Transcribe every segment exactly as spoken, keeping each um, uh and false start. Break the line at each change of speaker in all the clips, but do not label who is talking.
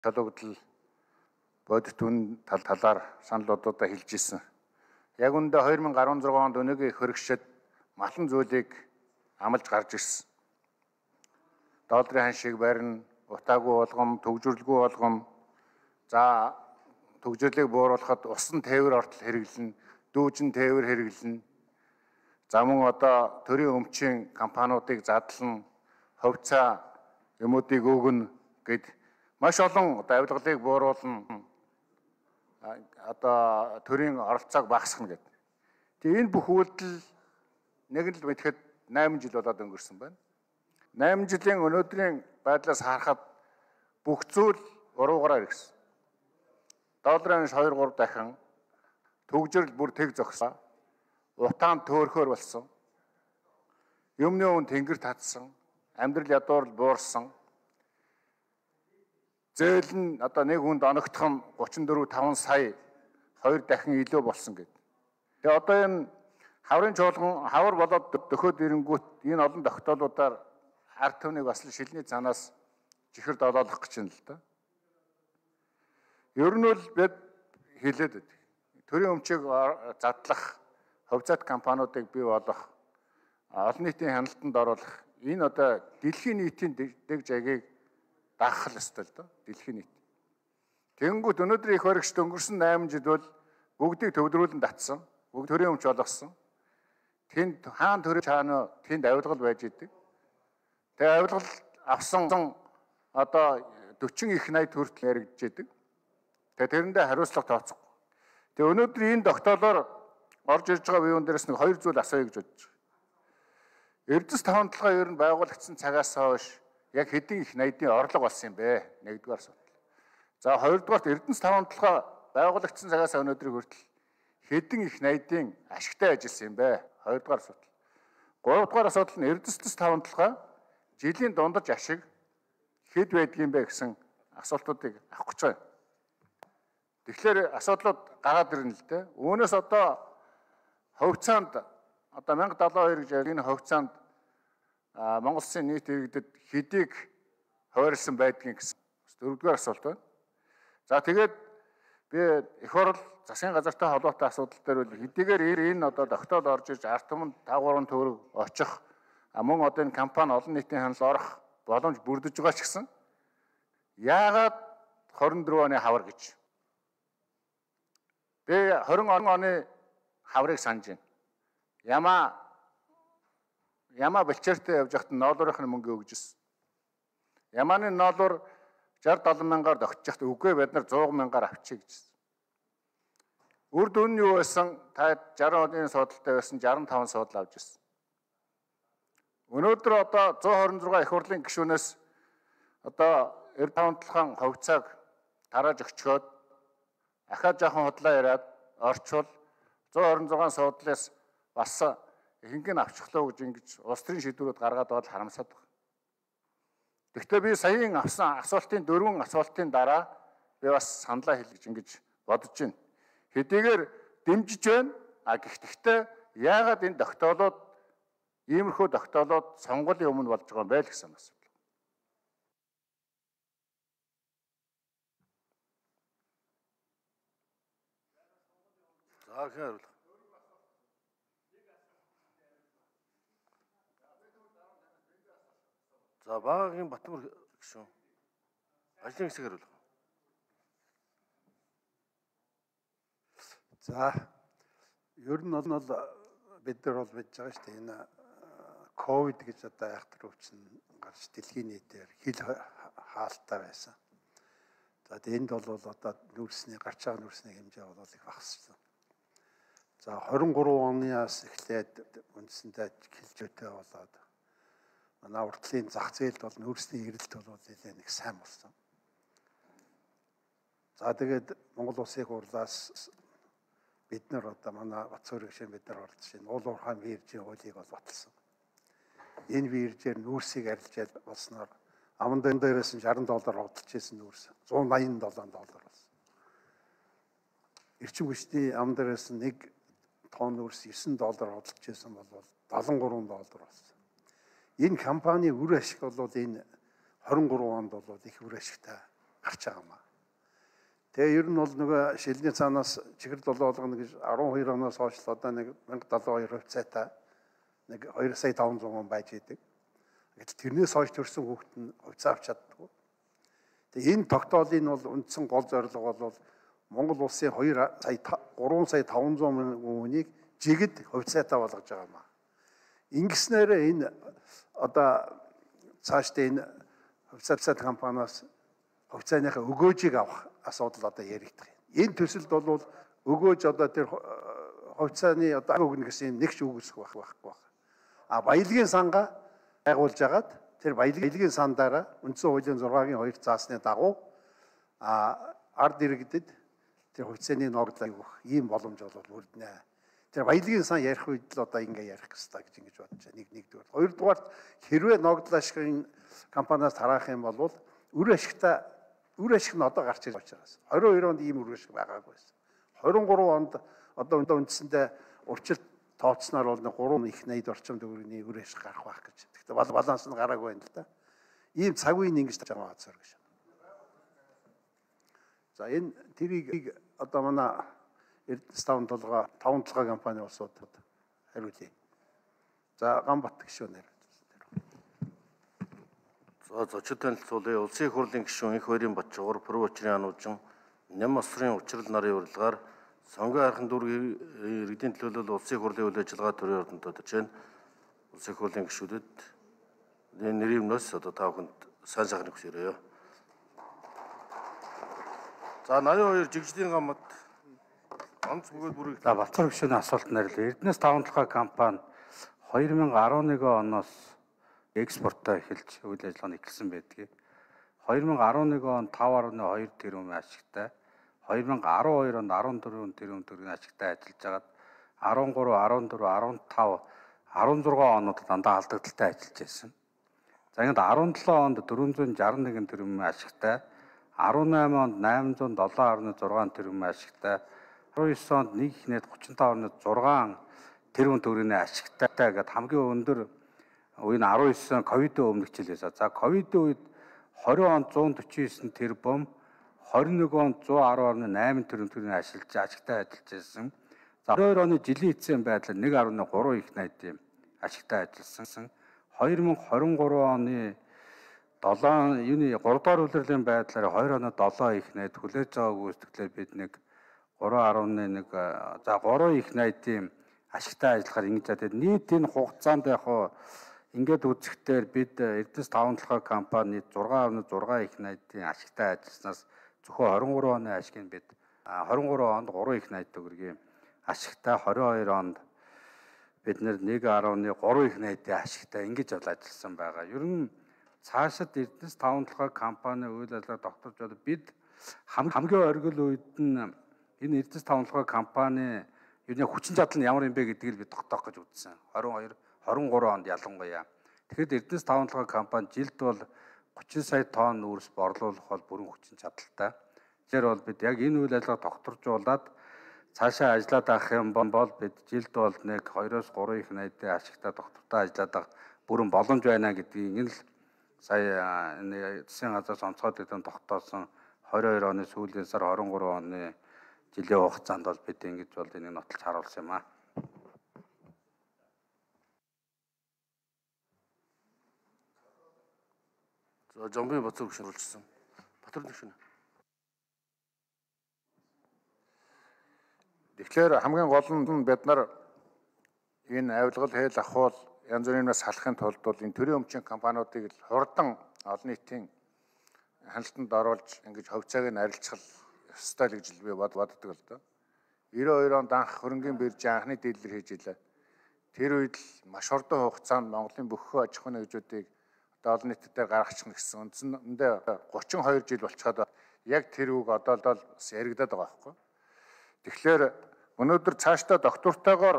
Төлөвлөл бодит үн тал талаар саналуудаа хэлж ирсэн. Яг үндэ хоёр мың арван зургаан онд өнөөгийн хөрөгчд малан зүйлийг амлаж гарч ирсэн. Долларын ханшийг барина, утаагүй болгом, төгжрөлгүй болгом, за төгжрлийг бууруулахад усан тээвэр ортол хэрэглэнэ, дүүжин тээвэр хэрэглэнэ. За мөн одоо төрийн өмчийн компаниудыг задлан хувьцаа юмуудыг өгнө гэд маш олон одоо авилгалыг бууруулна. Одоо төрийн оролцоог багасгах гэдэг. Тэгээ энэ бүх үйлдэл нэг л мэдхэд найман жил болоод өнгөрсөн байна. найман жилийн өнөөдрийн байдлаас харахад бүх зүйл уруугаараа ирсэн. Долларын ханш хоёр гурав дахин, төгжрөл бүр тэг зогсоо, утаан төөрхөөр болсон, юмны үн тэнгэр татсан, амьдрал ядуурл буурсан, зээл нь одоо нэг хүнд оногдох нь гучин дөрвөн таван сая хоёр дахин илүү болсон гэдэг. Тэгээ одоо энэ хаврын чуулган хавар болоод дөхөөд ирэнгүүт энэ олон тогтоолуудаар ард түмнийг бас л шилний цаанаас чихэр долоолох гэж байна л да. Ер нь бол бид хэлээд байдаг. Төрийн өмчийг задлах, хувьцаат компаниудыг бий болгох, олон нийтийн хяналтанд оруулах энэ одоо дэлхийн нийтийн дэг жагийг даахал ёстой л доо. Дэлхийн нийт. Тэнгүүт өнөөдөр их баригчд өнгөрсөн найман жил бол бүгдийг төвлөрүүлэн татсан. Бүгд төрийн өмч болгосон. Тэнд хаан төрийн чаана тэнд авилгал байж идэг. Тэгээ авилгал авсан одоо дөрвөн их найд хүртэл яригдж идэг. Тэгээ тэрэндээ хариуцлага тооцохгүй. Тэгээ өнөөдөр энэ тогтоолоор орж ирж байгаа биеүн дээрээс нэг хоёр зүйл асууя гэж бодож байна. Эрдэс таван толгой ер нь байгуулагдсан цагаас хойш яг хэдин их найдын орлого болсон юм бэ? Нэгдүгээр асуудал. За хоёрдугаарт Эрдэнэс таван толгой байгуулагдсан цагаас өнөөдрийг хүртэл хэдин их найдын ашигтай ажилласан юм бэ? Хоёрдугаар асуудал. Гуравдугаар асуудал нь Эрдэнэс таван толгой жилийн дундаж ашиг хэд байдгийм бэ гэсэн асуултуудыг авах гэж байна. Тэгэхээр асуудлууд гараад ирнэ л дээ. Үүнээс одоо хувьцаанд одоо мянга далайн хоёр гэж энэ хувьцаанд Монгол Улсын нийт иргэдэд хэдийг хойрлсон байдгийг гэсэн дөрөвдүгээр асуулт байна. За тэгээд би их орол засгийн газартай холбоотой асуудал дээр бол хэдийгээр энэ одоо тогтоол орж ирж ард түмэнд таван гурван төгрөг очих мөн одоо энэ компани олон нийтийн хяналт орох боломж бүрдэж байгаа ч гэсэн яагаад хорин дөрөв оны хавар гэж би хорин оны хаврыг санаж байна. Яма Яма бэлчээртэй явж байхад ноолуурынхны мөнгө өгжсэн. Ямааны ноолуур шард долоон мянгаар тогтчихад үгүй бид нар зуун мянгаар авчиг гэжсэн. Үр дүн нь юу байсан? Та жарган оны суудалтай байсан жарган таван суудал авч ирсэн. Өнөөдөр одоо зуун хорин зургаан их хурлын гишүүнээс одоо эрд таван толгойн хувьцааг тарааж өгчгөөд ахаа жоохон худлаа яриад орчвол зуун хорин зургаан суудлаас бас ихэнх нь авчихлаа гэж ингэж улс төрийн шийдвэрүүд гаргаад бол харамсаад байна. Гэхдээ би саяын авсан асуултын дөрвөн асуултын дараа би бас саналаа хэлж ингэж бодож байна. Хэдийгээр дэмжиж байна. А гэхдээ яагаад энэ тогтоолууд иймэрхүү тогтоолууд сонгуулийн өмнө болж байгаа юм бэ л гэсэн асуудал. За хэрэг За багийн Батмөр гişүн ажлын хэсгээр бол.
За ер нь бол бид нар бол мэдж байгаа шүү дээ. Энэ ковид гэж одоо айхтар өвчин гарч дэлхийн нийтээр хил хаалттай байсан. За энд бол одоо нүүрсний гарч байгаа нүүрсний хэмжээ бол их багассан. За хорин гурван оноос эхлээд үндсэндээ хилжөөтэй болоод манай уртлын зах зээлд бол нүүрсний эрэлт бол нэлээд нэг сайн болсон. За тэгээд Монгол Улсын хурлаас бид нар одоо манай Бацуурын гишүүн бид нар орж шинэ уул уурхай виржийн хуулийг бол баталсан. Энэ виржээр нүүрсийг арилжаад болсноор аман дээрээс нь шаран доллар худалдаж ирсэн нүүрс зуун найман доллар болсон. Эрчим хүчний аман дээрээс нэг тонн нүүрс есөн доллар худалдаж ирсэн бол дагалан гурван доллар болсон. Энэ компани үр ашиг бол энэ хорин гурван онд бол их үр ашигтай гарч байгаа юм. Тэгээ ер нь бол нөгөө шилний цаанаас чихэр долоо болгоно гэж арван хоёр оноос хойш одоо нэг мянга долоо хоёр хувьцаатай нэг хоёр сая таван зуун хүн байж идэг. Гэтэл тэрнээс хойш төрсэн хүүхэд нь хувьцаа авч чаддаггүй. Тэгээ энэ тогтоолын бол үндсэн гол зорилго бол Монгол улсын хоёр сая гурван сая таван зуун мянган хүнийг жигд хувьцаатай болгож байгаа юм. Ингэснээр энэ одоо цаашдаа энэ хувьцаа компаниас хувьцааныхаа өгөөжийг авах асуудал одоо яригдах юм. Энэ төсөлд бол өгөөж одоо тэр хувьцааны одоо өгнө гэсэн юм нэг ч үгүйсэх байхгүй байхгүй. А баялагын сангаа байгуулж агаад тэр баялагын сандаараа үндсэн хуулийн зургагийн хоёр заасны дагуу а ард иргэдэд тэр хувьцааны ногдлыг өгөх ийм боломж бол үрднэ. Тэр баялагын сан ярих үед л одоо ингэ ярих хэрэгтэй гэж ингэж бодож байна. Нэг нэгдүгээр. Хоёрдугаар хэрвээ ногдол ашигын компаниас тараах юм бол үр ашигтай үр ашиг нь одоо гарч ирж байгаас. двадцать two онд ийм үр ашиг байгаагүй байсан. twenty three онд одоо үндсэндээ урьдчилт тооцсноор бол three их eighty орчим төгрөгийн үр ашиг гарах байх гэж. Гэхдээ бол баланс нь гараагүй байна л да. Ийм цаг үеийн ингэж байгаа цаар гэж. За энэ тэрийг одоо манай Эрдэнэс таван толгой таван толгой компани улсууд хариулъя. За Ганбат гишүүнээр.
За зочид танилцуулъя. Улсын их хурлын гишүүн Их Баярын Батчуугар, Пүрэв Учрын ануужин, Ням Осрын учрал нарын урилгаар сонгон хайрхан дүүргийн иргэдийн төлөөлөл улсын их хурлын үйл ажиллагаа төрийн ордонд тодорч байна. Улсын их хурлын гишүүдэд энэ нэрийн өмнөөс одоо та бүхэнд сайн сайхныг хүсье. За eighty-two жигжлийн гамад онц бөгөөд бүрийг.
За Балцар гишүүний асуулт нэрлээ. Эрдэнэс таван толгой компани two thousand eleven оноос экспортоо эхэлж үйл ажиллагааны эхэлсэн байдгийг. two thousand eleven он five point two тэрбум ашигтай, two thousand twelve онд fourteen тэрбум төгрөгийн ашигтай ажиллаж хагаад thirteen, fourteen, fifteen, sixteen онууд дандаа алдагдaltaй ажиллаж байсан. За ингээд seventeen онд four hundred sixty-one тэрбум ашигтай, eighteen онд eight hundred seven point six тэрбум ашигтай, nineteen онд нэг их нэт thirty-five point six тэрбум төгрөгийн ашигтай гэдэг хамгийн өндөр үеийн nineteen ковидын өмнөх жилээс. За ковидын үед twenty онд one forty-nine тэрбум, twenty-one онд one ten point eight тэрбум төгрөгийн ашиглаж ашигтай ажиллаж байсан. За twenty-two оны жилийн эцсийн байдлаар one point three их найдын ашигтай ажилласан. twenty twenty-three оны seven юуны three дугаар улирлын байдлаар two оны seven их найд хүлээж байгааг үүсгэхдээ бид нэг three point one за three их найдын ашигтай ажиллахаар ингэж чадаад нийт энэ хугацаанд яг ингээд үзэхдээ бид Эрдэнэс таван толгой компани six point six их найдын ашигтай ажилласнаас зөвхөн twenty-three оны ашиг нь бид twenty-three онд three их найд төгрөгийн ашигтай, twenty-two онд бид нэр one point three их найдын ашигтай ингэж ажилласан байгаа. Ер нь цаашид Эрдэнэс таван толгой компани үйл ажиллагаа тогтоож бол бид хамгийн оргил үед нь энэ Эрдэнэс таван толгой компани юуны хүчин чадал нь ямар юм бэ гэдгийг бид тогтоох гэж үзсэн. twenty-two twenty-three онд ялангуяа. Тэгэхэд Эрдэнэс таван толгой компани жилд бол thirty сая тонн үүрс борлуулах бол бүрэн хүчин чадалтай. Тэгэхээр бол бид яг энэ үйл ажиллагаа тогтворжуулаад цаашаа ажиллаад авах юм бол бид жилд бол нэг two-оос three их найдын ашигтай тогтвортой ажиллаад авах бүрэн боломж байна гэдгийг энэ л сая энэ засгийн газраас онцгой дэдэн тогтоосон twenty-two оны сүүлийн сар twenty-three оны жилийн хугацаанд бол бид ингэж бол энийг нотолж харуулсан юм аа.
За Жомбын Батцар гишүүн урьдчилсан. Батар гишүүн.
Тэгэхээр хамгийн гол нь бид нар энэ авилгал хэл ахуул янз бүрийнээс салахын тулд бол энэ төрийн өмчийн компаниудыг л хурдан олон нийтийн хяналтанд оруулж ингэж хувьцааг нь арилжах ёстой л гэж би боддог л доо. ninety-two онд анх хөрөнгөний биржийн анхны дийлэлэр хийж илээ. Тэр үед л маш хурдан хугацаанд Монголын бүх аж ахуйн нэгжүүдийг одоо олон нийтэд гаргачихна гэсэн үндсэндээ thirty-two жил болчиход яг тэр үг одоо л бас яригадаад байгаа байхгүй. Тэгэхээр өнөөдөр цаашдаа доктортойгоор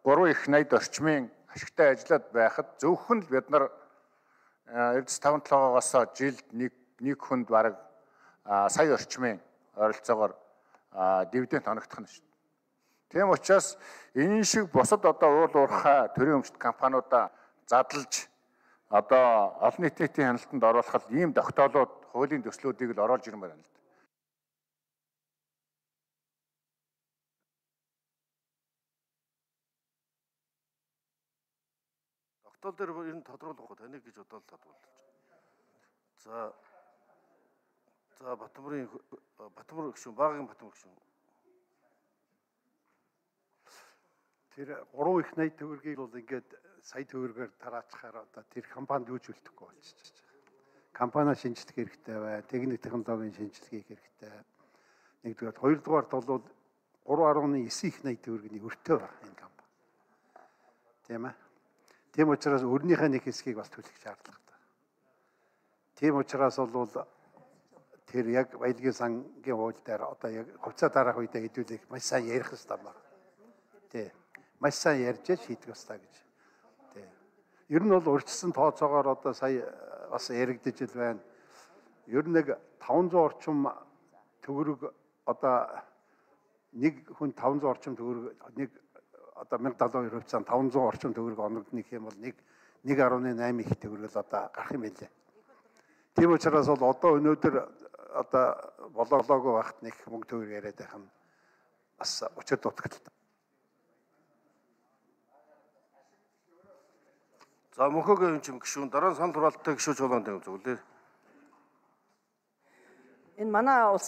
three их найд орчмын ашигтай ажиллаад байхад зөвхөн л бид нар Эрдэнэс таван толгойгоос жилд нэг нэг хүнд бараг сая орчмын ойролцоогоор дивиденд оногдох нь шүү дээ. Тийм учраас энэ шиг бусад одоо уул уурхай төрийн өмчт компаниудаа задлж одоо олон нийтийн хяналтанд оруулах ийм тогтоолууд хуулийн төслүүдийг л оруулж ирмээр байна л да.
Тогтоол дээр ер нь тодруулах таныг гэж бодоод тодруулж. За за Батбарын Батбар гүшүүн багийн Батбар гүшүүн.
Тэр гурван их найт төгрөгийг бол ингээд сая төгрөгөөр тараачихаар одоо тэр компанид юуж үлдэхгүй болчихж байгаа. Компани шинжлэх хэрэгтэй бай, техник технологийн шинжилгээ хийх хэрэгтэй. Нэгдүгээр, хоёрдугаарт бол гурван гаруй девять их найт төгрөгийн өртөө байна энэ компани. Тийм ээ. Тийм учраас өрнийхээ нэг хэсгийг бас төлөх шаардлагатай. Тийм учраас бол тэр яг баялагын сангийн хууль дээр одоо яг хувьцаа дараах үедээ хэдүүлэх маш сайн ярих хэрэгтэй байна. Тийм. Маш сайн ярьж шийдэх ёстой гэж. Тийм. Ер нь бол урьдчилсан тооцоогоор одоо сая бас яригдж ил байна. Ер нь нэг таван зуун орчим төгрөг одоо нэг хүн таван зуун орчим төгрөг нэг одоо мянга даалга хоёр хувьцаанд таван зуун орчим төгрөг оногднох юм бол нэг нэг гаруй восемь их төгрөг л одоо гарах юм байлээ. Тийм учраас бол одоо өнөөдөр одоо болоолоогүй багт нэг мөнгө төгрөг яриад байх нь бас учир дутагдaltaй.
За мөнхөгийн юм гүшүүн дараа нь санал хураалттай гүшүүч болгоно гэдэг зүгэлээ.
Энэ манай улс